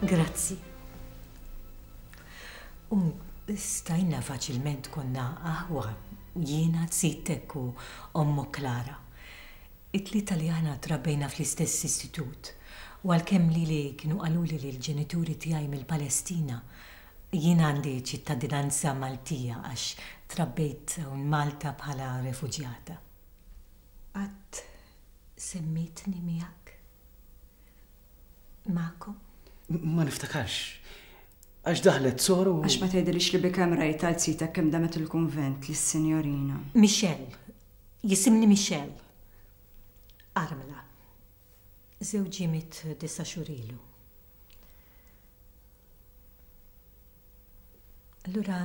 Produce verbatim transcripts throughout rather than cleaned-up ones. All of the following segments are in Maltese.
Grazzi. U stajna faċilment konna aħwa, jiena, zittek u ommu Klara. It-tlieta li aħna trabbejna fl-istess istitut u għalkemm lili kienu qaluli li l-ġenituri tiegħi mill-Palestina, jiena għandi ċittadinanza Maltija għax trabbejt hawn Malta bħala refuġjata. Qatt semmitni miegħek? Magħkom? Ma niftakarx. Għax daħlet soru. Għax ma tgħidilix li bikemm rajt għal zitek kemm damet il-kunvent lis-sinjorina. Michelle. Jisimni Michelle. Armla. Żewġi miet disa' xhur ilu. Allura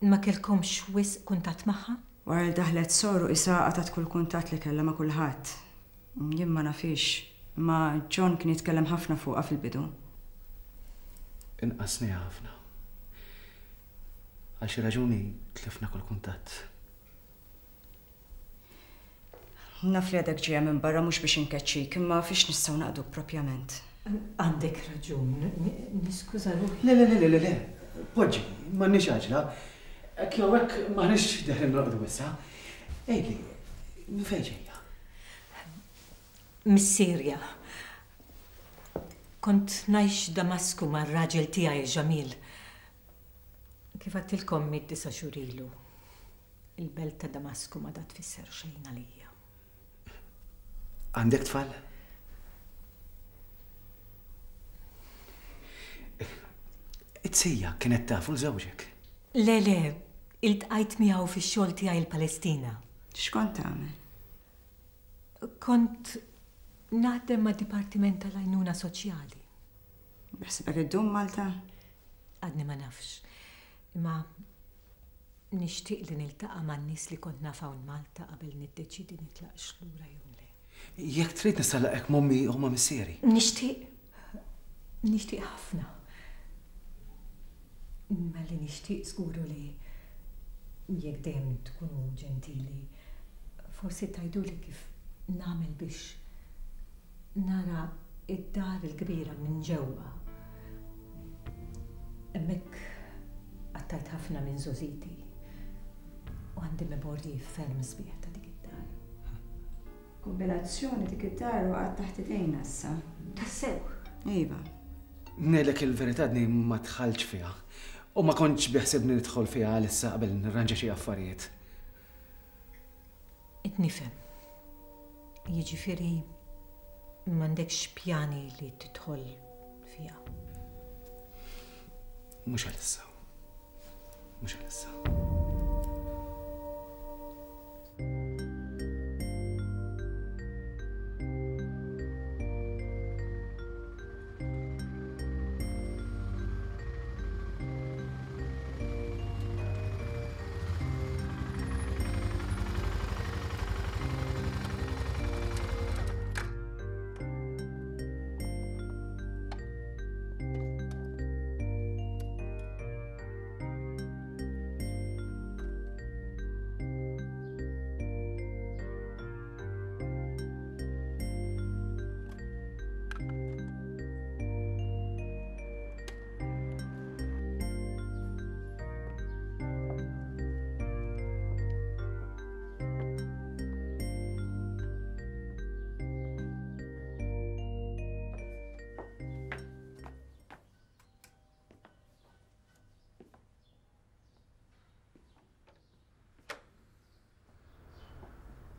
ma kellkomx wisq kuntatt magħha? Wara li daħlet soru isa qatgħet kull kuntatt li kellha ma' kulħadd. Jien ma nafix, imma John kien jitkellem ħafna fuqha fil-bidu. Inqasniha ħafna. Għal xi raġuni tlifna kull kuntatt. Naf li għadek ġejja minn barra mhux biex inkeċċik, imma fiex nistgħu naqduk propjament. Għandek raġun, niskuża ruħi. Le, le, le, le, le, poġġi, m'għandniex għaġla. Hekk jew hekk m'aħniex deħlin norqdu issa. Ejli, minn fejn ġejja? Mis-Sirja. Kont ngħix Damasku mar-raġel tiegħi Ġamil. Kif għedtilkom miet disa' xhur ilu. Il-belt ta' Damasku ma dat tfisser xejn għalija. Għandek tfal? It-sija kienet tafu l-żewġek? Le, le, iltqajt miegħu fix-xogħol tiegħi l-Palestina. X'kont tagħmel? Kont naħdem ma' Dipartiment tal-Għajnuna Soċjali. Beħsibek iddum Malta? Għadni ma nafx. Imma nixtieq li niltaqa' man-nies li kont naf hawn Malta qabel niddeċiedi nitlaqx lura jew le. Jekk trid nista' nlaqgħek m'ommi u ma' missieri. Nixtieq. Nixtieq ħafna. Imma li nixtieq żguru li jekk dejjem tkunu ġentili, forsi tgħiduli kif nagħmel biex nara id-dar il-kbira minn ġewwa. Hemmhekk qattajt ħafna minn żgħożiti u għandi memorji ferm sbieħ ta' dik id-dar. Kombinazzjoni dik id-dar waqgħet taħt idejna issa. Tassew? Iva. Ngħidlek il-verità għadni ma dħaltx fiha u ma kontx biħsibni nidħol fiha għalissa qabel nirranġa xi affarijiet. Qed nifhem. Jiġifieri m'għandekx pjani li tidħol fiha. Mhux għalissa. Mhux għalissa.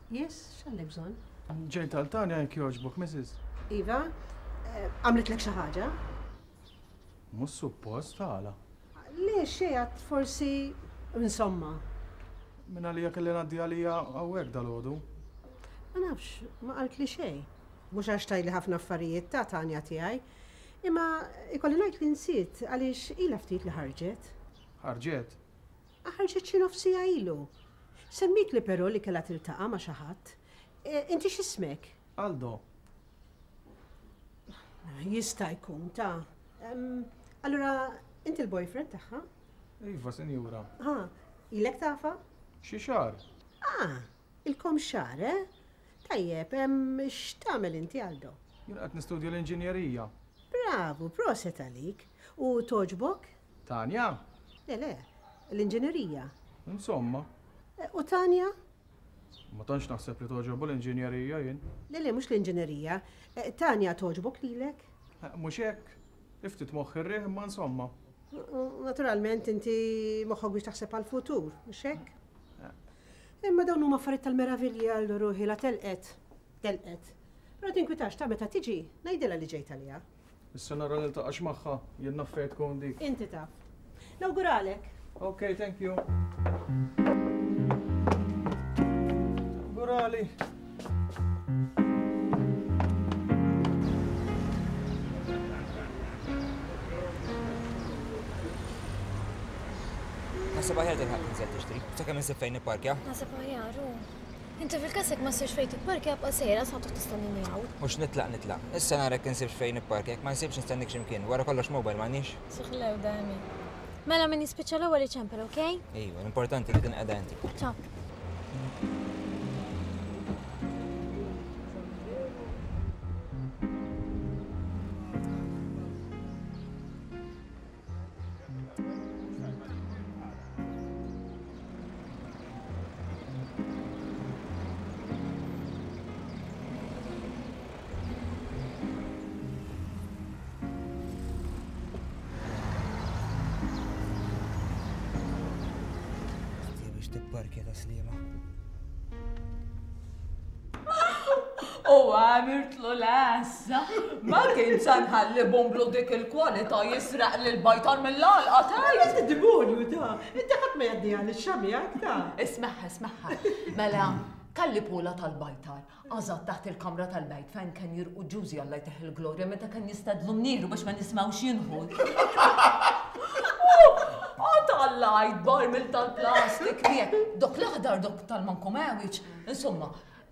Yes, x'għandek bżonn? Ġejt għal Tanja jekk jogħġbok, Missus Iva, eh, għamlitlek xi ħaġa? Mhux suppost għala. Le, xejn għad forsi insomma. Min għalija kelli ngħaddi għalija hawnhekk dalgħodu. Ma nafx, ma qaltli xejn. Mhux għax tajli ħafna affarijiet ta' Tanja tiegħi, imma ikolli ngħid li nsiet għaliex ilha ftit li ħarġet. Ħarġet? Ħarġet xi nofs siegħa ilu. Semmit li però li kellha tiltaqa' ma' xi ħadd. E, inti x'ismek? Aldo. Jista' jkun ta'. Em, allura, inti l-boyfriend tagħha? Iva, sinjura. Ah, ilek tafha? Xi xahar. Ah, ilkom xahar, eh? Tajjeb, em, x'tagħmel inti, Aldo? Jien qed nistudja l-inġinjerija. Bravo! Bravu, proset għalik. U toġbok? Tanja? Le, le, l-inġinerija. Insomma. U Tanja? Ma tantx naħseb li toġobu l-inġinerija jien. Le, le, mhux l-inġinerija. Tanja toġbok lilek? Mhux hekk. Iftit moħħ ir-riħ imma insomma. Naturalment inti moħħok biex taħseb għall-futur, mhux hekk? Imma dawn huma affarijiet tal-meravilja għal ruħi la telqet. Telqet. Però tinkwitax ta' meta tiġi, ngħidilha li ġejt għaliha. Issa nara niltaqax magħha, jien naf fejn tkun dik. Inti taf. Nawguralek. Ok, thank you. Nawgurali. Naħseb aħjar tilħaq tinżel tixtri, sakemm insib fejn nipparkja. Naħseb aħjar, u. Inti fil-każ ma ssirx fejn tipparkja bqa' sejra sa toqgħod tistennini hawn. Mhux nitlaq nitlaq. Issa nara jekk insibx fejn nipparkja, jekk ma nsibx nistennik x'imkien, wara kollox mobile m'għandniex. Suħlew dami. Mela min jispiċċa l-ewwel iċempel, okej? Iva, l-importanti li tinqeda inti. Ciao. Tipparkja ta' Sliema. U għamirtlu l-għassa. Ma kien sanħalli bomblu dik il-kwalità jisraq lil bajtar mill-għalqa tajt. Inti demonju ta' inti ħadd ma jgħaddi għal ix-xamjak ta' Ismaħħa, ismaħħa. Mela, kalli pula tal-bajtar, għażat taħt il-kamra tal-bajt fejn kien jirqu ġużi Alla jteħ il-glorja meta kien jistadlu mnieru biex ma nismgħux jinħu. Tallajt barmil tal-plastik miegħek, dok l-aħdar dok tal-mankomewiċ, insomma,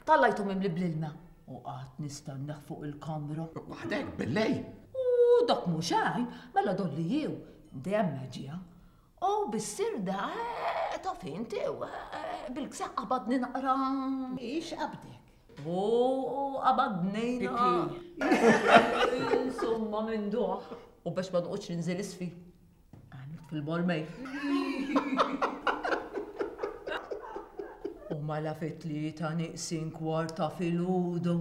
tallajtu mimli bl-ilma. U qatt nistenna fuq il-kamra. Waħdek billej. U dok mhux għajn, mela dolli jew, dejjem meġija. U bis-sirda taf inti bil-kseq qabadni naqra. Ix qabdek? U qabadni. Insomma minn duħ. U biex ma noqgħodx ninżel isfi. Fil-bormej. U mela fit-tlieta niqsin kwarta filgħodu,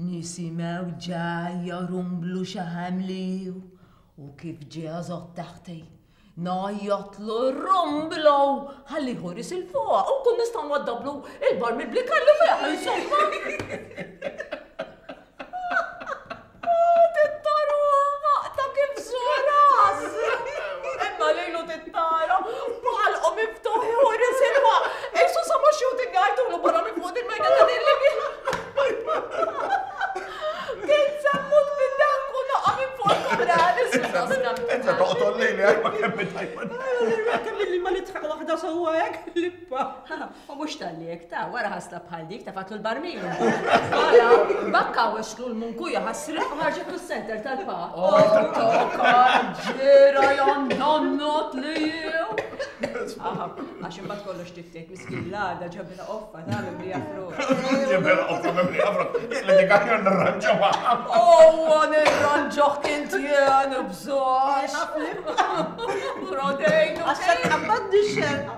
nisimgħu ġajja rumblu xi ħamliju u kif ġie għażot taħti. Ngħajjatlu rumblu ħalli ħoris il fuq u kun nistgħu nwaddablu il-barmil bli kellu fih insomma. U mhux tal-lek ta' wara ħasla bħal dik ta' fatlu l-barmil. Mela, bakka wexlu l-munkuja ħasra. Ħarġet s-center tal-pa. Ġira jandannot li jew. Għax imbagħad kollox tiftejt miskin l-għada ġabila qoffa ta' mimlija frott. Ġabila qoffa mimlija frott. Li dik aħjar nirranġaw. Owa nirranġaw kint jien bżox. Rodejn. Għax tqabbadni x-xerqa.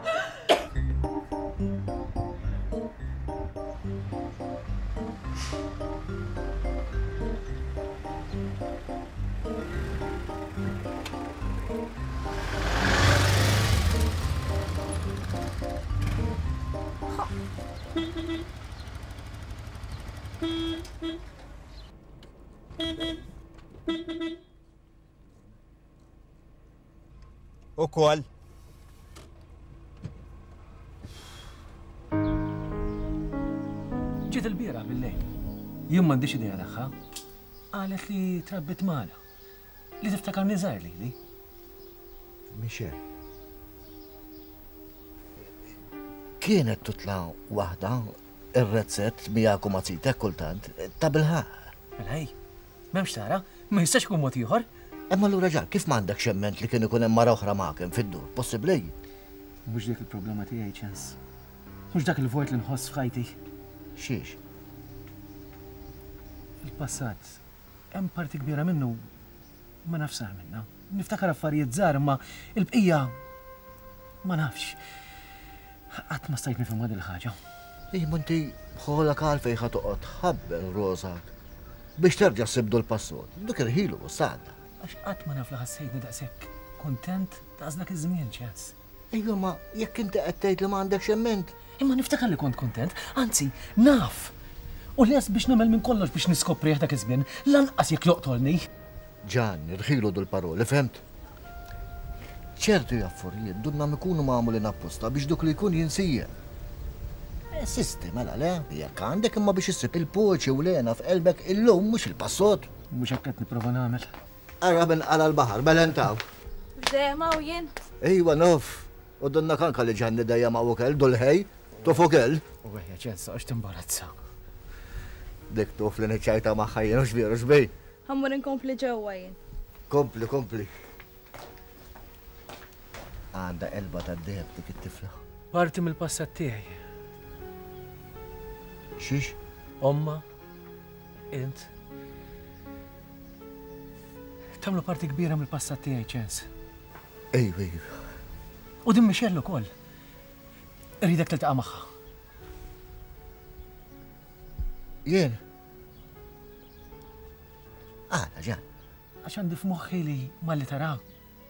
Ukoll. Ġiet il-bieraħ bil-lejl. Jien m'għandix idea tagħha. Qalet li trabbit magħna. Li tiftakarni żgħir lili. Michel. Kienet tutla waħda ir-rezzett miegħek u ma' zitek kultant ta' bilħaq. Mela hi, m'hemmx tara, ma jistax ikun mod ieħor. Imma allura ġan, kif m'għandek xemment li kien ikun hemm mara oħra magħek fid-dur? Possibbli? Mhux dik il-problema tiegħi, ċens. Mhux dak il-vojt li nħoss f'ħajti. Xiex? Il-passat, hemm parti kbira minnu Ma nafx sar minna. Niftakar affarijiet żgħar imma il-bqija ma nafx. Qatt ma stajt nifhimha din il-ħaġa. Ej, inti bħolak għalfejn ħa toqgħod tħabbel rosak biex terġa' ssibdu l-passot. Dik irħilu u sadda. Għax qatt ma naf li ħassejtni daqshekk kuntent daqs dak iż-żmien, Ċens. Ejwa, ma jekk inti qed tgħid li ma għandekx emment. Imma niftakar li kont kuntent, anzi, naf. U lest biex nagħmel minn kollox biex niskoprih dak iż-żmien, lanqas jekk joqtolni. Ġan, irħilu dul-paroli, fhimt? Ċertu affarijiet dunna ikunu magħmulin apposta biex duk li jkun jinsija. Sisti, mela le, jekk għandek imma biex issib il-poċi u lena f'qelbek illum mhux il-passot. Mhux hekk qed nipprova nagħmel. Ara minn qala l-baħar, mela intaw. Dejjem hawn jien. Ejwa nof, u donna kanka li ġanni dejjem hawn ukoll, dul-ħej, tof ukoll. U ejja Ċens, għax timbarazza. Dik tuf li niċċajta magħha jien u xbieru xbej. Ħammur inkompli ġewwa jien. Kompli, kompli. Għandha elba tad-deheb dik it-tifla. Parti mill-passat tiegħi. Xiex? Omma, int. Tagħmlu parti kbira mill-passat tiegħi, Ċens. Ejwa, ejwa. U din Michelle ukoll. Irridek tiltaqa' magħha. Jien? Għala, Ġan. Għax għandi f'moħħi li malli tara,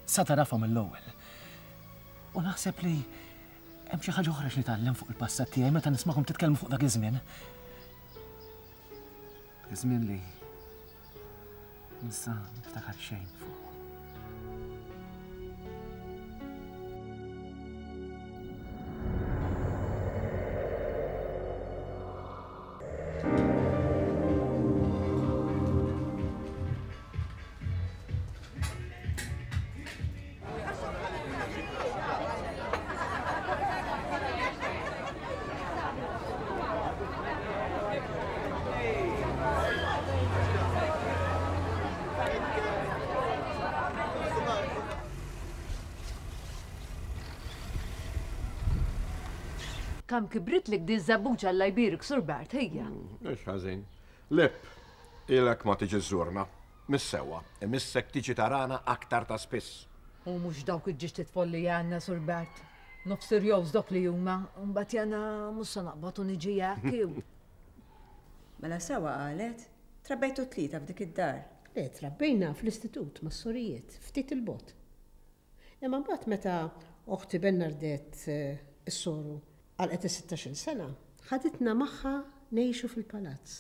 sa tarafha mill-ewwel. U naħseb li hemm xi ħaġa oħra x'nitgħallem fuq il-passat tiegħi meta nismakom titkellmu fuq dak iż-żmien. Dak iż-żmien li nista' niftakar xejn fuq. Kam kibrit lek di żabbuġa Alla jbierek, Sur Bart, ejja. Mhux ħażin. Lip, ilek ma tiġi żżurna. Mis-sewwa, imissek tiġi tarana aktar ta' spiss. U mhux dawk il-ġiex titfolli għandna, Sur Bart. Nof serjoż dok li huma, mbagħad jana mhux se naqbad u niġi hekk. Mela sewwa qalet, trabbejtu tlieta f'dik id-dar. Le, trabbejna fl-istitut mas-sorijiet, ftit il-bot. Imma mbagħad meta oħti Bernardette is-soru għalqet is-sittax-il sena, ħaditna magħha ngħixu fil-palazz.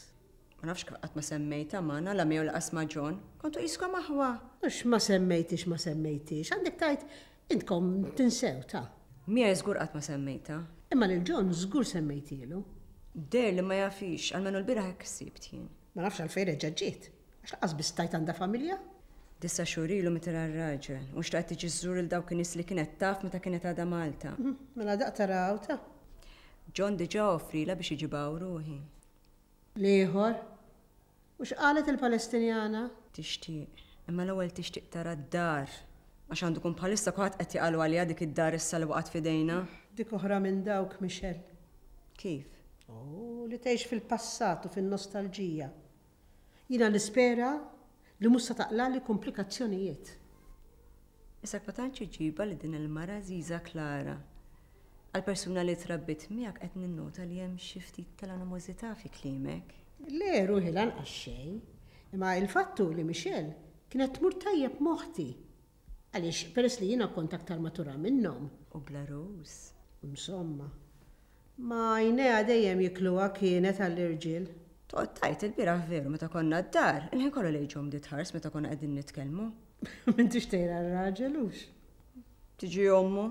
Ma nafx kif qatt ma semmejtha magħna la miegħu laqas ma' John. Kontu qiskom aħwa. Mhux ma semmejtix ma semmejtix, għandek tgħid intkom tinsew ta'. Miegħi żgur qatt ma semmejtha. Imma lil John żgur semmejtielu. Deher li ma jafix, almenu l-bieraħ hekk sibt jien. Ma nafx għalfejn reġa' ġiet, għax laqas biss tajt għandha familja. Disa xhur ilu meta r-raġel, u xtaqt tiġi żżur il dawk in-nies li kienet taf meta kienet għadha Malta. Mela daq taraw ta'. John diġà offrila biex iġibaw ruħi. L-ieħor? U x'qalet il-Palestinjana? Tixtieq, imma l-ewwel tixtieq tara d-dar. Għax għandu kun bħalissa kulħadd qed jaqalu għaliha dik id-dar issa li waqgħet f'idejna. Dik oħra minn dawk, Michelle. Kif? Oh, li tgħix fil-passat u fin-nostalġija. Jiena nispera li mhux se taqlali komplikazzjonijiet. Issa ma tantx iġibha li din il-mara Ziza Klara. Għal-persuna li trabbit miegħek qed ninnota li hemm xi ftit tal-animożità fi kliemek. Le, ruħi lanqas xejn, imma il-fattu li Michelle kienet tmur tajjeb moħti. Għaliex peress li jiena kont aktar matura minnhom. U bla rus. Insomma, ma għajnejha dejjem jikluha kienet għall-irġiel. Toqgħod tajt il-bieraħ veru meta konna d-dar, il-ħin kollu lejn ġom ditħars meta konna qegħdin nitkellmu. M'intix tgħid għar-raġel hux? Tiġi ommu.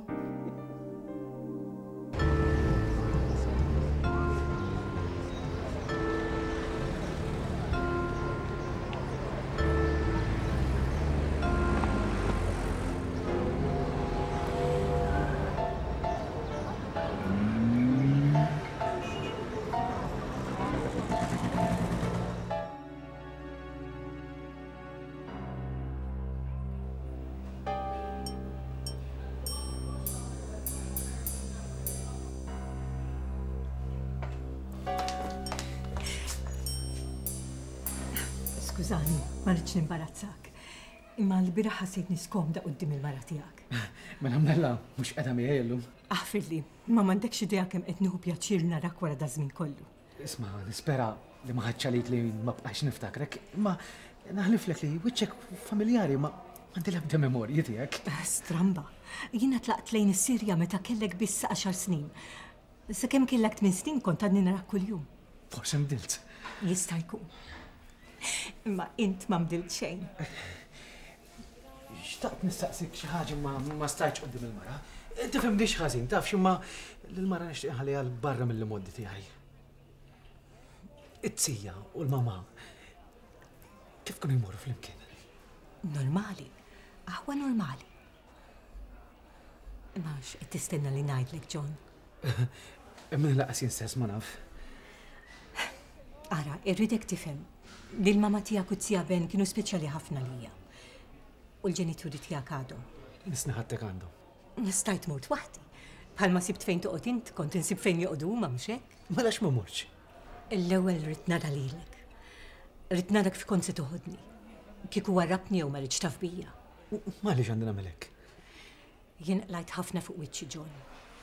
Skużani, ma rridx nimbarazzak. Imma l-bieraħ ħassejtni skomda quddiem il-mara tiegħek. Mela mnella mhux qiegħda miegħi llum. Aħfirli, ma m'għandekx idea kemm qed nieħu pjaċir narak wara daż-żmien kollu. Isma', nispera li ma ħadx għalik li ma bqajx niftakrek, imma naħliflek li wiċċek familjari ma għandi l-ebda memorji tiegħek. Stramba. Jiena tlaqt lejn is-Sirja meta kellek biss għaxar snin. Sakemm kellek tmien snin kont għadni narak kuljum. Forsi nbdilt. Jista' jkun. Imma int ma nbdilt xejn. Xtaqt nistaqsik xi ħaġa ma ma stajtx quddiem il-mara. Tifhimniex ħażin, taf x'imma lill-mara nixtieq nħalliha 'l barra mill-imoddi tiegħi. It-tija u l-mama kif kienu jmorru flimkien? Normali, aħwa normali. Imma x'qed tistenna li ngħidlek, John? Imma laqas jien stess ma naf. Ara, irridek tifhem li l-mama tiegħek u t-tija Ben kienu speċjali ħafna lija. U l-ġenituri tiegħek għadhom. Nisni ħadtek għandhom. Stajt mort waħdi. Bħalma sibt fejn toqgħod int, kont insib fejn joqogħdu huma mhux hekk? Mela x'ma mortx? L-ewwel rrid nara lilek. Rrid nara kif kont se toħodni. Kieku warrabni jew ma ridx taf bija. Ma għaliex għandi nagħmel hekk? Jien qlajt ħafna fuq wiċċi John.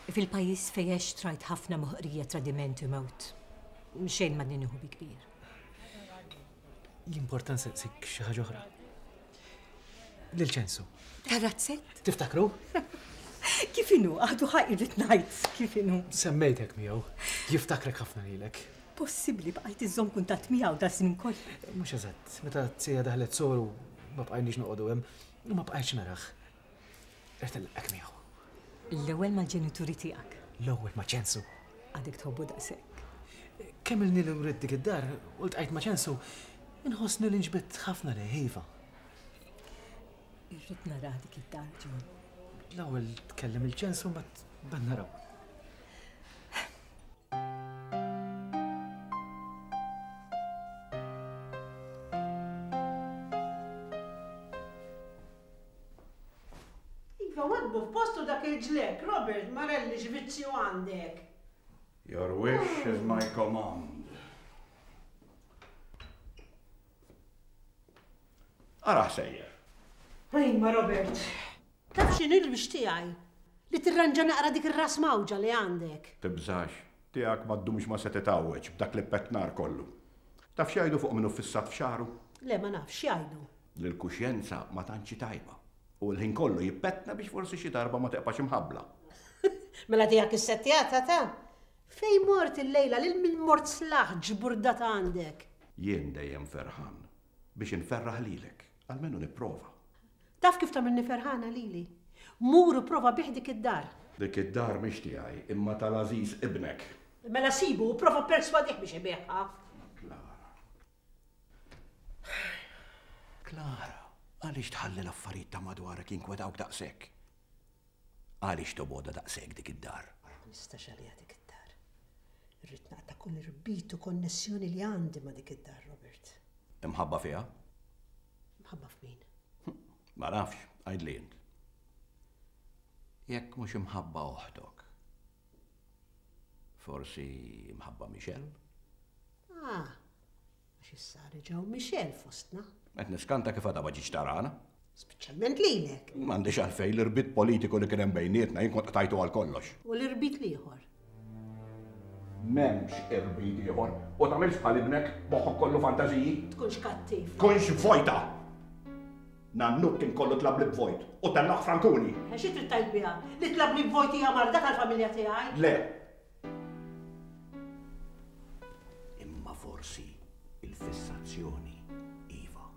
Fil-pajjiż fejn għext rajt ħafna moħqrija, tradiment u mewt. Xejn ma nieħu bi kbir. L-importanza sik xi ħaġa oħra. Lil Ċensu. Tar-razzett? Tiftakru? Kif inhu? Għadu ħaj irrid ngħid kif inhu. Semmejtek miegħu. Jiftakrek ħafna lilek. Possibbli bqajt iżżomm kuntatt miegħu da żmien kollu. Mhux eżatt, meta t-sija daħlet soru ma bqajniex noqogħdu hemm u ma bqajtx narah. Irrid nilqek miegħu. L-ewwel mal-ġenituri tiegħek. L-ewwel ma' Ċensu. Għadek tħobbu daqshekk. Kemm ilni li wrid dik id-dar u ltqajt ma' Ċensu, inħossni li nġbidt ħafna lejh iva. Irrid nara dik id-dar, John. L-ewwel tkellem il-Ċensu ma tban naraw. Iva, wadbu f'postu dak il-ġlek, Robert, Marelli, x'vizzju għandek. Your wish is my command. Ara sejjer. Ejma, Robert, taf x'inhi l-biex tiegħi? Li tirranġa naqra dik ir-ras mawġa li għandek. Tibżax, tiegħek ma ddumx ma se titgħawweġ b'dak li petnar kollu. Taf x'jgħidu fuq minnu fissat f'xagħru? Le, ma nafx x'jgħidu. Li l-kuxjenza ma tantx hi tajba. U l-ħin kollu jippetna biex forsi xi darba ma teqpax imħabbla. Mela tiegħek is-settjata ta' Fej mort il-lejla lil min mort slaħ ġburdata għandek? Jien dejjem ferħan biex inferraħ lilek, almenu nipprova. Taf kif tagħmilni ferħana lili? Mur u prova bih dik id-dar. Dik id-dar mhix tiegħi, imma tal-għażiż ibnek. Mela sibu u prova perswadih biex ibigħha. Klara. Klara, għaliex tħalli l-affarijiet ta' madwarek jinkwetawk daqshekk? Għaliex tobgħodha daqshekk dik id-dar? Ma nistax għaliha dik id-dar. Irrid naqta' kull irbit u konnessjoni li għandi ma' dik id-dar, Robert. Imħabba fiha? Imħabba f'min? Ma nafx, għidli int. Jekk mhux imħabba oħtok. Forsi imħabba Michelle? Ah, għax issa reġgħu Michelle fostna. Qed niskanta kif għadha ma ġietx tarana. Speċjalment lilek. M'għandix għalfejn l-irbit politiku li kien hemm bejnietna jien kont qtajtu għal kollox. U l-irbit l-ieħor? M'hemmx irbit ieħor u tagħmilx bħal ibnek moħħok kollu fantażiji. Tkunx kattiv. Tkunx vojta. Nannuk kien kollu tlabli b'vojt u tellaħ Frankuni. Xi trid tgħid biha? Li tlabli b'vojt hija marda tal-familja tiegħi? Le. Imma forsi il-fissazzjoni iva.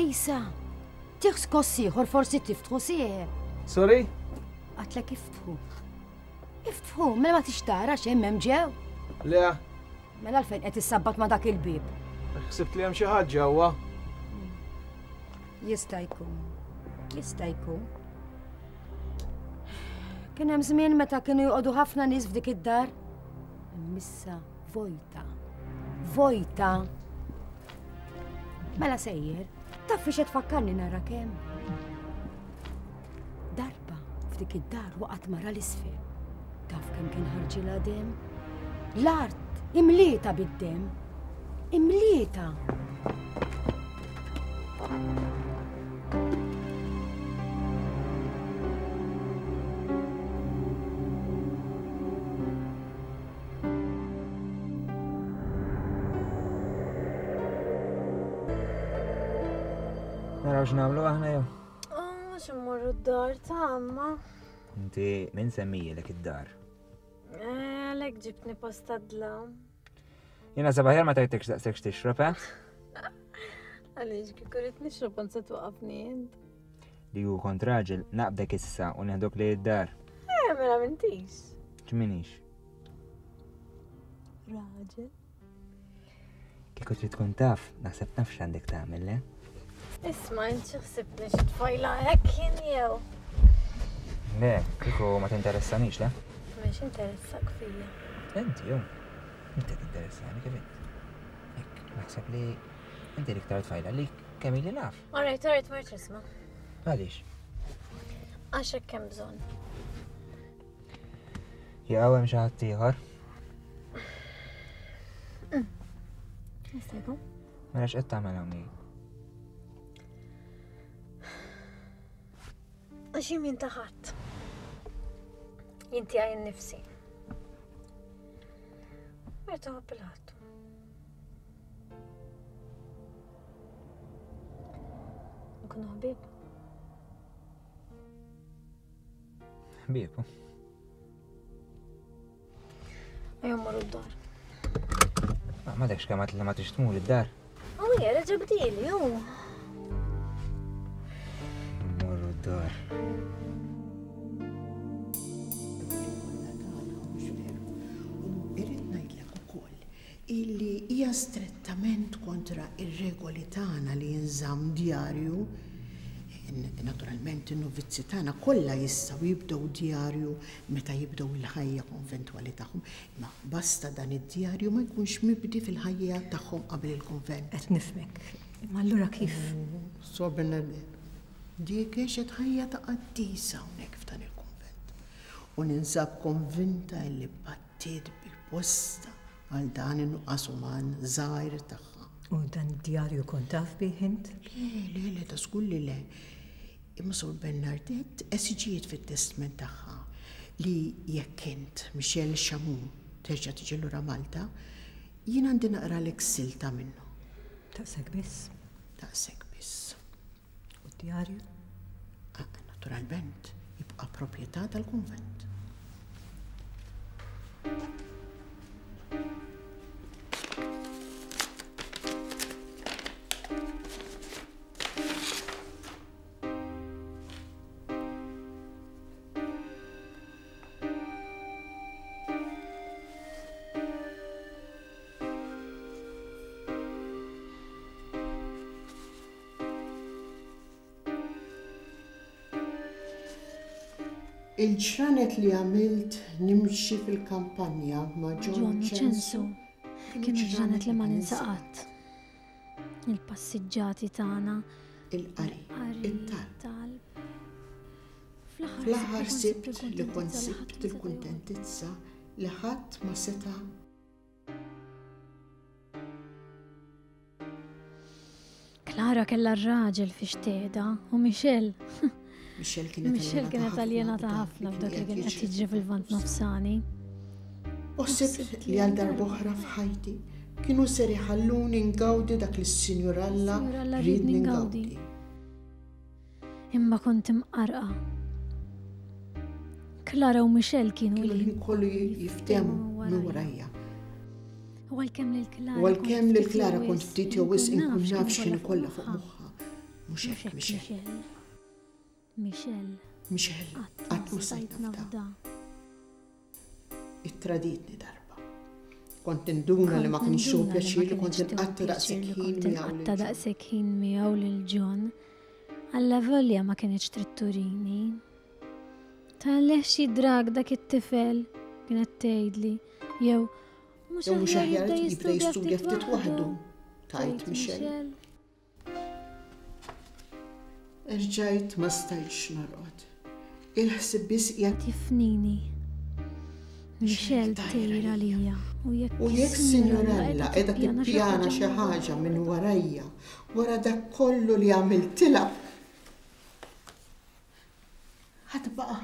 Isa, tieħ skoss ieħor forsi tiftħu sieħeb. Sorry? Għatlek iftħu. Iftħu, mela ma tixtara x'hemm hemm ġew. Le. Mela għalfejn qed issabbat ma' dak il-bieb. Ħsibt li hemm xi ħadd ġewwa. Jista' jkun. Jista' jkun. Kien hemm żmien meta kienu joqogħdu ħafna nies f'dik id-dar. Imma vojta. Vojta. Mela sejjer, taf fiex qed tfakkarni nara kemm. Darba f'dik id-dar waqgħet mara l-isfel. Taf kemm kien ħarġilha dem? L-art imlieta bid-dem. Imlieta. Naraw x'nagħmlu aħna jew. Mhux immorru d-dar ta' amma. Inti min semmijilek id-dar? Għalhekk ġibtni posta dlam. Jiena sabaħjar ma tajtekx daqshekk tixrob, eh? Għaliex kieku rrid nixrob kont se twaqafni int. Li hu kont raġel naqbdek issa u neħdok li id-dar. Eh, mela m'intix. Ġminix. Raġel. Kieku trid tkun taf, naħseb naf x'għandek tagħmel, le? Isma' int xi ħsibni xi tfajla hekk jien jew. Le, kieku ma tinteressanix, le? Mhux interessak fija. Inti jew. Inti tinteressani kif int. Hekk, naħseb li inti l-iktar tfajla li kemm ili naf. All right, all right, marx isma'. Għaliex? Għax hekk hemm bżonn. Jew hemm xi ħadd ieħor. Jista' jkun? Mela x'qed tagħmel hawnhekk? Għax jien min ta' ħadd. Jien tiegħi nnifsi. Merta ħobb il-ħadd. Nkunu ħbieb. Ħbieb. Ejja mmorru d-dar. Ma dekx kemm għad li ma tix tmur id-dar. Oh, reġa' bdieli, hu. Mmorru d-dar. Irrid ngħidlek ukoll illi hija strettament kontra ir-regoli tagħna li jinżamm djarju. Naturalment in-novizzi tagħna kollha jistgħu jibdew djarju meta jibdew il-ħajja konventwali tagħhom, imma basta dan id-djarju ma jkunx mibdi fil-ħajja tagħhom qabel il-konvent. Qed nifhmek. Imma allura kif? Sor Bernadette, dik għexet ħajja ta' qaddisa hawnhekk f'dan il-konvent. U ninsab konvinta li battiet bil-posta għal dan in-nuqqas uman żgħir tagħha. U dan id-djarju kont taf bih int? Le, le, le, ta' żgur li le. Imma Sor Bernadette esiġiet fit-testment tagħha li jekk int Michel Chamoun terġa' tiġi lura Malta, jien għandi naqralek silta minnu. Taqsek biss? Taqsek biss. U d-djarju? Naturalment, jibqa' proprjetà tal-kunvent. Il-ġranet li għamilt nimxi fil-kampanja ma' John Ċensu kienu ġranet li ma ninsa qatt. Il-passiġġati tagħna, il-qari, it-talb. Fl-aħħar sibt li kont sibt il-kuntentizza li ħadd ma seta' Klara kellha r-raġel fi xtieda u Michel. Michel kienet aljenata ħafna f'dak li kien qed jiġri fil-Lvant Nofsani. U sibt li għal darb'oħra f'ħajti kienu ser iħalluni ngawdi dak li s-Sinjur Alla riedni ngawdi. Imma kont imqarqa. Klara u Michel kienu li kollu jiftehmu minn warajja. U għalkemm lil Klara. U għalkemm lil Klara kont ftit jew wisq inkun naf x'inhi kollha fuq moħħha. Mhux hekk, Michelle. Michelle. Michelle, qatt ma stajt nafda. Ittraditni darba. Kont induna li ma kienx hu pjaċir li kont inqatta' daqshekk ħin miegħu. Inqatta' daqshekk ħin miegħu lil John. Alla volja ma kienx trid turini. Tgħalleh xi drag dak it-tifel kienet tgħidli jew mhux aħjar jibda jistudja ftit waħdu, tgħid Michelle. Erġajt ma stajtx norqod. Il-ħsieb biss qiegħed jifnini. Michelle tgħir għalija. U jekk Sinjorella qiegħda tippjana xi ħaġa minn warajja, wara dak kollu li għamiltilha, ħadd baqa'.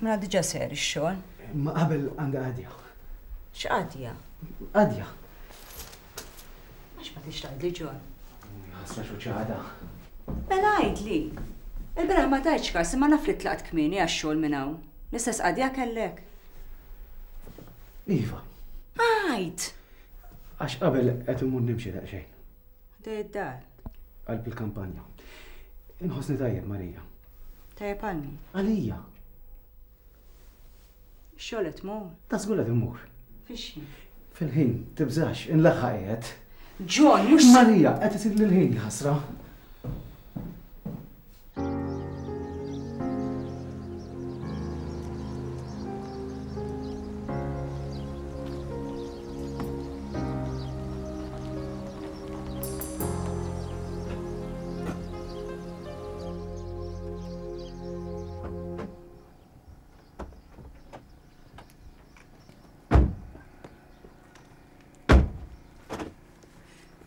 Mela diġà ser ix-xogħol. Ma qabel għandha qadja. X'qadja? Qadja. Għax ma tix tgħidli John. Ħasra xuċada. Mela għidli. Il-bieraħ ma tajtx każ imma naf li tlaqt kmieni għax-xogħol minn hawn. L-istess qadja kellek. Iva. Għid! Għax qabel qed immur nimxi daqsxejn. Ħdej id-dar. Qalb il-kampanja. Inħossni tajjeb Marija. Tajjeb għal min? Għalija. Xogħol qed tmur? Ta' żgur qed immur. Fix-xejn. Fil-ħin, tibżax, inlaħħaq qiegħed. John, mhux Marija, qed isir lil-ħin ħasra.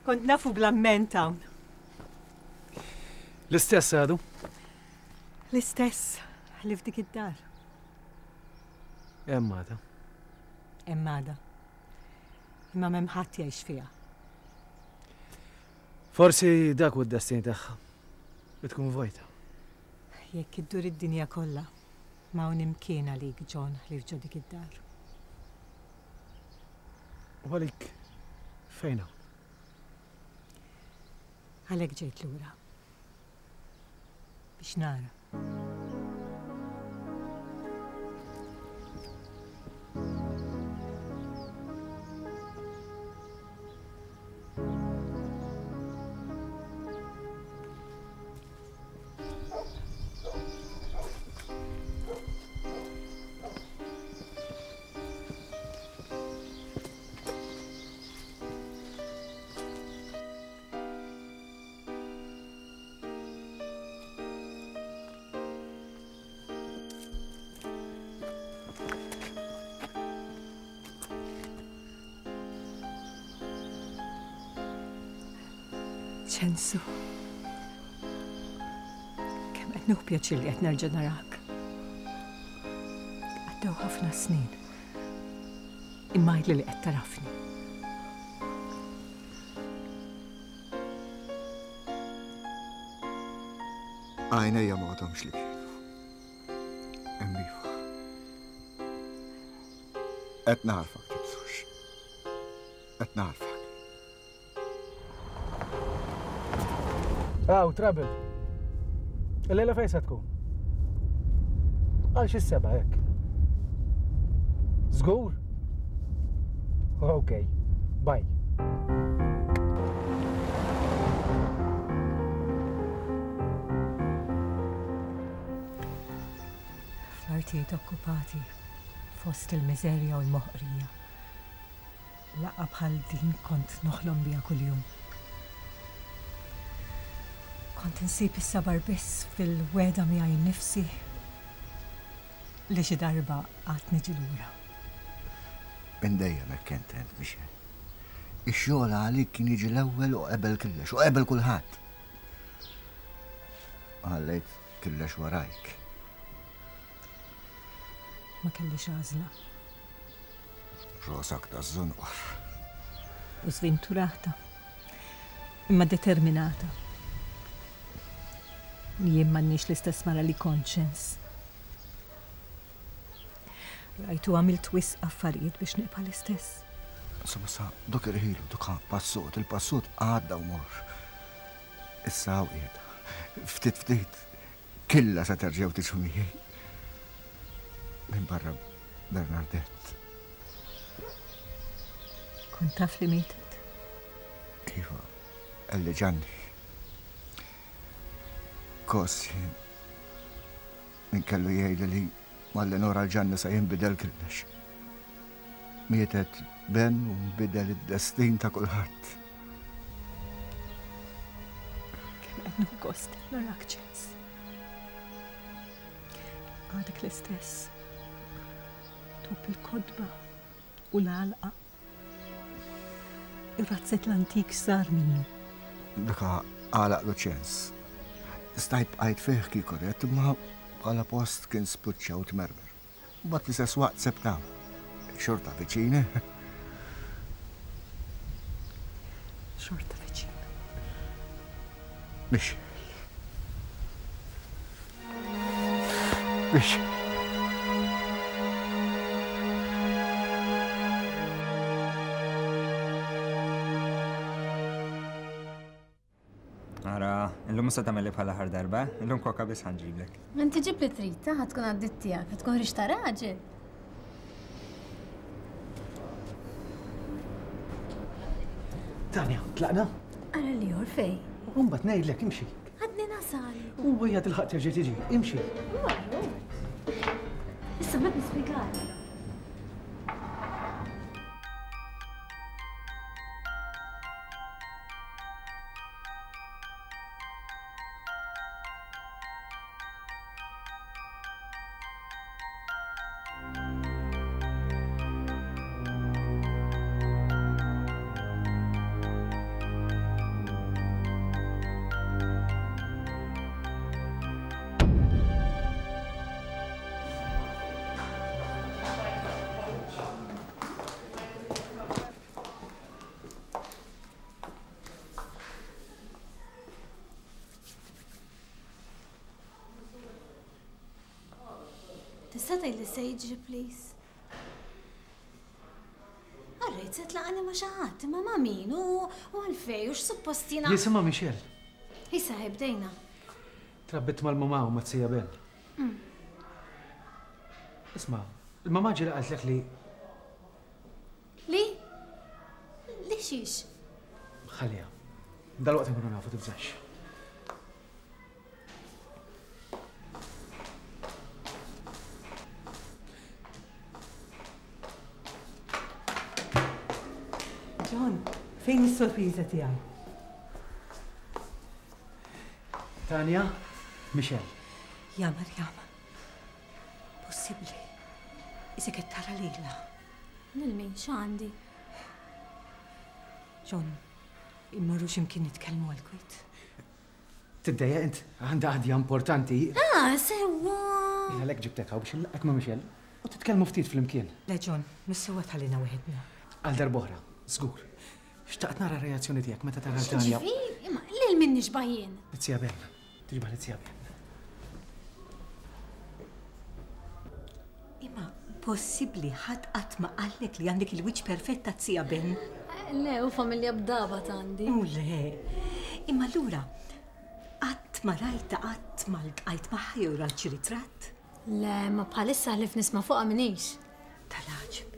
Kont nafu bl-amment hawn. L-istess għadu? L-istess, ħlief dik id-dar. Hemm għadha. Hemm għadha. Imma m'hemm ħadd jgħix fiha. Forsi dak hu d-destin tagħha. Li tkun vojta. Jekk iddur id-dinja kollha, ma hawn imkien għalik John ħlief ġo dik id-dar. U għalik fejn hawn? Għalhekk ġejt lura. Biex nara. Ċensu. Kemm qed nieħu pjaċir li qed nerġa' narak. Għaddew ħafna snin. Imma għidli li qed tarafni. Għajnejja ma għadhomx li kienu. Hemm iva. Qed narfak tibsux. Qed narfak. Aw, trouble. Il-lejla fejn se tkun? Għal xi seba' hekk. Żgur? Ok, bye. Fl-artijiet okkupati, fost il-miżerja u l-moħqrija. Laqgħa bħal din kont noħlom biha kuljum. Kont insib is-sabar biss fil-weda miegħi nnifsi li xi darba qatt niġi lura. Minn dejjem hekk kent int, Michelle. Ix-xogħol għalik kien jiġi l-ewwel u qabel kollox, u qabel kulħadd. Ħallejt kollox warajk. Ma kellix għażla. Rosak ta' żunqor. U sventurata. Imma determinata. Jien m'għandniex l-istess mara li kont ċens. Rajtu għamilt wisq affarijiet biex nibqa' l-istess. Insomma sa dok irħilu, dok passut, il-passut għadda u mor. Issa hawn qiegħda. Ftit ftit, killa sa terġgħu tiġu miegħi. Minn barra Bernardette. Kont taf li mietet? Iva, qalli Ġanni. Kos jien. Min kellu jgħidli li malli nora l-Ġanni sa jinbidel kollox. Mietet Ben u nbidel id-destin ta' kulħadd. Kemm qed nieħu gost narak ċens. Għadek l-istess. Top il-kodba u l-għalqa. Ir-razzett l-antik sar minnu. Daka għalaq lu ċens. Stajt bqajt fih kieku rett, imma bħala post kien spiċċa u tmermer. Mbagħad l-istess waqt sebtaw. Xorta viċin. Xorta viċin. Mix. Mix. Ara, illum sa tagħmel bħala aħħar darba, illum koka biss ħanġiblek. Inti ġib li trid, ta' ħa tkun għaddit tiegħek, ħa tkun ħriġ ta' raġel. Tanja, tlaqna? Ara li jor fej. Mbagħad ngħidlek imxi. Għadni nasal. U hija tilħaq terġa' tiġi, imxi. Marru. Issa bad nispjegali. Tista' tgħidli se jiġri please? Għarrejt se tlaqani ma' xi ħadd, imma ma' min u għalfej u x'suppost jiena. Jisimha Michelle. Issa bdejna. Trabbit mal-mamà u ma' tija Ben. Isma', il-mamà ġieli qaltlek li. Li? Li xiex? Ħalliha. Dalwaqt nkunu nafu tibżax. John, fejn is-sorpriża tiegħi? Tanja, Michelle. Ja Marjam. Possibbli. Isek qed tara lilha. Lil min x'għandi? John, immorru x'imkien nitkellmu għall-kwiet. Tiddejjaq int, għandha qadja importanti. Ah, sewwa. Jien għalhekk ġibtek hawn biex nlaqgħek ma' Michelle u titkellmu ftit flimkien. Le John, mis-sewwa tħallina weħedna. Għal darb'oħra, żgur. Xtaqt nara r-reazzjoni tiegħek meta tara Tanja. Ġifieri, imma lil min nixbah jien? Tija Ben. Tixbah tija Ben. Imma possibbli ħadd qatt ma qallek li għandek il-wiċċ perfett ta' tija Ben? Le, u familja b'dabat għandi. U le. Imma allura qatt ma rajta qatt ma ltqajt magħha jew rajt xi ritratt? Le, ma bħalissa ħlif nisma' fuqha minix. Tal-għaġeb.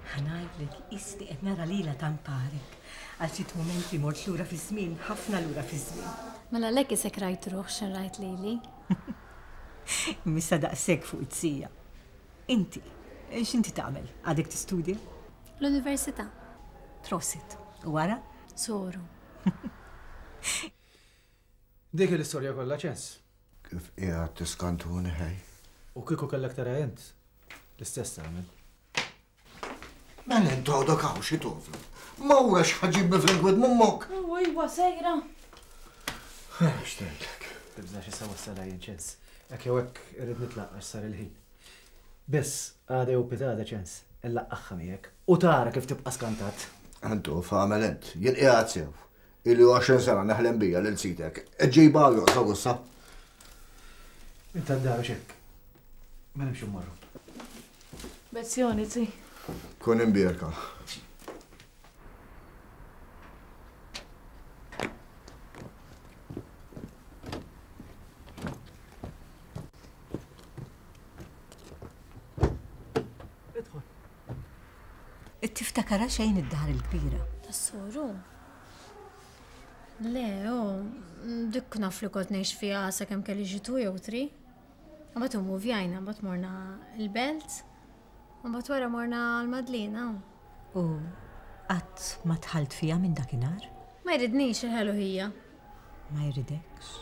Ħa ngħidlek isni qed nara lilha tamparek. Għal ftit mumenti mort lura fiż-żmien, ħafna lura fiż-żmien. Mela lek isek rajt ruħ x'in rajt lili. Missa daqshekk fuq it-sija. Inti, x'inti tagħmel? Għadek tistudja? L-università. Prosit. U wara? Soru. Dik l-istorja kollha ċens. Kif qiegħed tiskantuni ħej? U kieku kellek tara int, l-istess tagħmel. Mela intu għadok hawn xi toflu. Mawra x'ħaġibni fl-inkwit mummok. U iwa sejra. X'tgħidlek? Tibżax issa wassala jien ċens. Hekk jew hekk irrid nitlaq għax sar il-ħin. Biss, għada jew pitada ċens, illaqqagħha miegħek u tara kif tibqa' skantat. Antu, f'għamel int, jien qiegħed sew. Ili għoxrin sena neħlem bija lil sitek. Ġejba joqsa gussa. Inta d-daru xekk. Ma nimxu mmorru. Bezzjoni, zi. Kun imbierka. Tiftakara xejn id-dar il-kbira. Tas-soru? Le, oh, dik naf li kont ngħix fiha sakemm kelli xi two jew three. Mbagħad immuvjajna, mbagħad morna l-Belt, mbagħad wara morna l-Madlina. U qatt ma dħalt fiha minn dakinhar? Ma jridnix il-ħelu hija. Ma jridekx?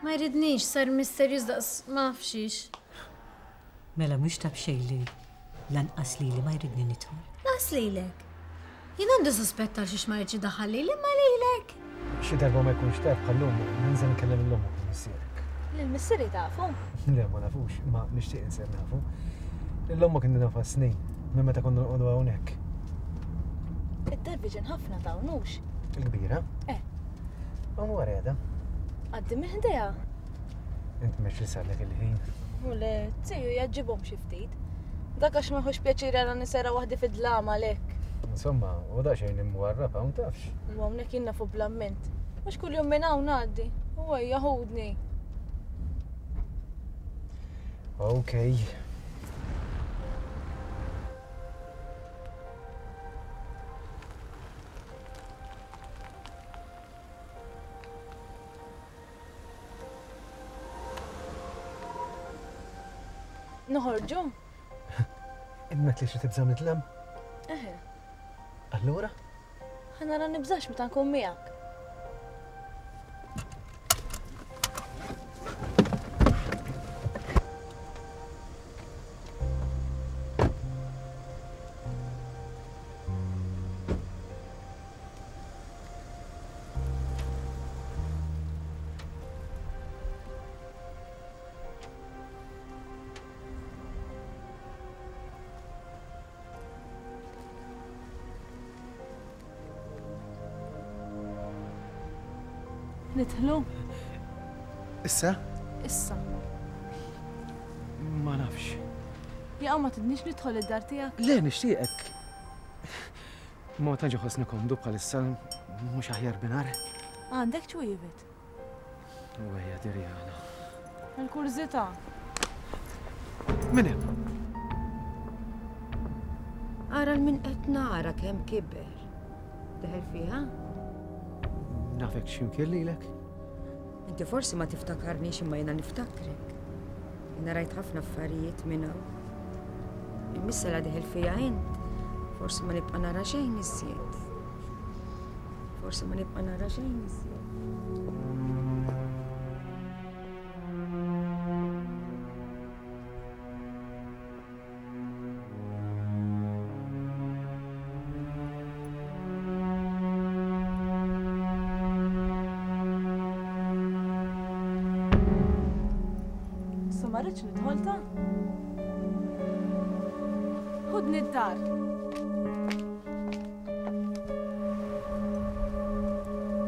Ma jridnix, sar misterjuż daqs ma nafxix. Mela mhux ta' b'xejn li lanqas lili ma jridni nidħol. Lanqas lilek. Jien għandi suspett għal xiex ma jridx idaħħal lili imma lilek. Xi darba ma jkunx tard bħal-lum, ninżel nkellem lil ommok u missierek. Lil missieri tafu? Le, ma nafux, ma nixtieq insir nafu. Lil ommok inni nafha snin, minn meta konna noqogħdu hawnhekk. Id-dar viġin ħafna ta' nux. Il-kbira? Eh. Hawn wara qiegħda. Għaddi minn ħdejha. Int mhux li sarlek il-ħin. U le, tiju jaġġibhom xi ftit. Dak għax ma jħux pjaċir għara nisera waħdi fid-dlam għalhekk. Insomma, u daqsxejn imwarrab hawn tafx. U hawnhekk jien nafu bl-amment. Mhux kuljum minn hawn ngħaddi. U ejja ħudni. Okej. Noħorġu? Imma li xi tibża' mid-dlam? Eħe. Allura? Ħa nara nibżax meta nkun miegħek. Nidħlu? Issa? Issa. Ma nafx. Jaqa' ma tidnix nidħol id-dar tiegħek? Le, nixtieqek. Ma tantx iħossni komdu bħalissa mhux aħjar binar. Għandek ċwievet. U ejja Dirjana. Il-kurżità. Min hemm? Ara l-min qed nara kemm kiber. Deħel fiha? Nafek x'imkien lilek? Inti forsi ma tiftakarnix imma jiena niftakrek. Jiena rajt ħafna affarijiet minn hawn. Imissa la deħel fija int, forsi ma nibqa' nara xejn iżjed. Forsi ma nibqa' nara xejn iżjed. Ma rridx nidħol ta'? Ħudni d-dar.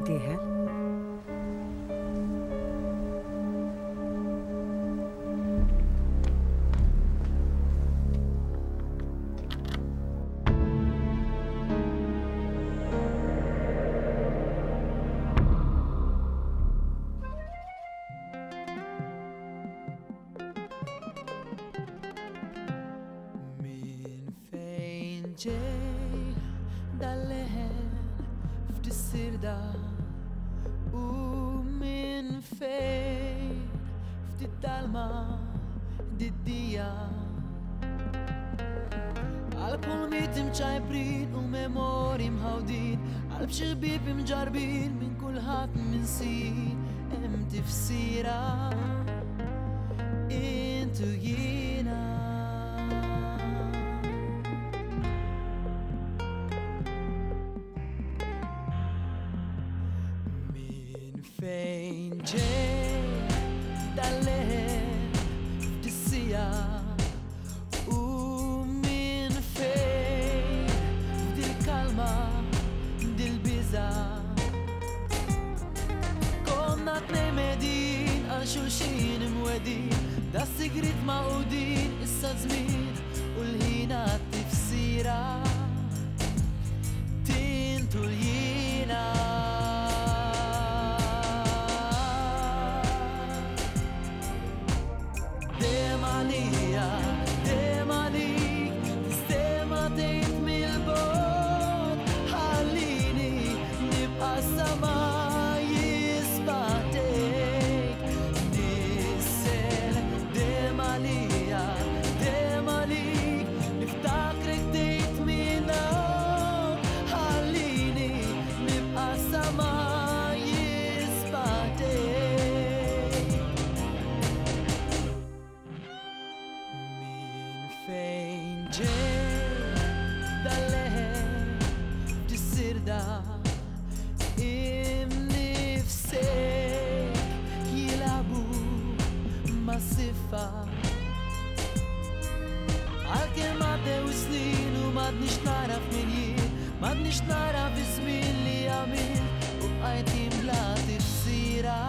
Dieħel? Ġej dal-leħen f'dis-sirda u minn fejn ftit dalma diddija għal kulmiet imċajprin u memori mħawdin għal b'xi ħbieb imġarbin minn kulħadd minsir hemm tifsira intu jiena. Fejn ġej dal-leħen f'dissija u xulxin imwedin, da sigrit maqudin, issa żmien u l-ħin għat-tifsira tintu l-jina. Dejjem għalija, dejjem għalik, tistema tgħid mill-bogħod, ħallini nibqa' sama jisbatek. Nissel dejjem għalija, dejjem għalik, niftakrek tgħid minn hawn, ħallini nibqa' sama jisbatek. Min fejn ġej dal-leħen f'dis-sirda imnifsek jilabu ma' sifa. Għalkemm għaddew snin u m'għadniex naraf min jien, m'għadniex naraf iż-żmien li għamilt u bqajt bla tifsira.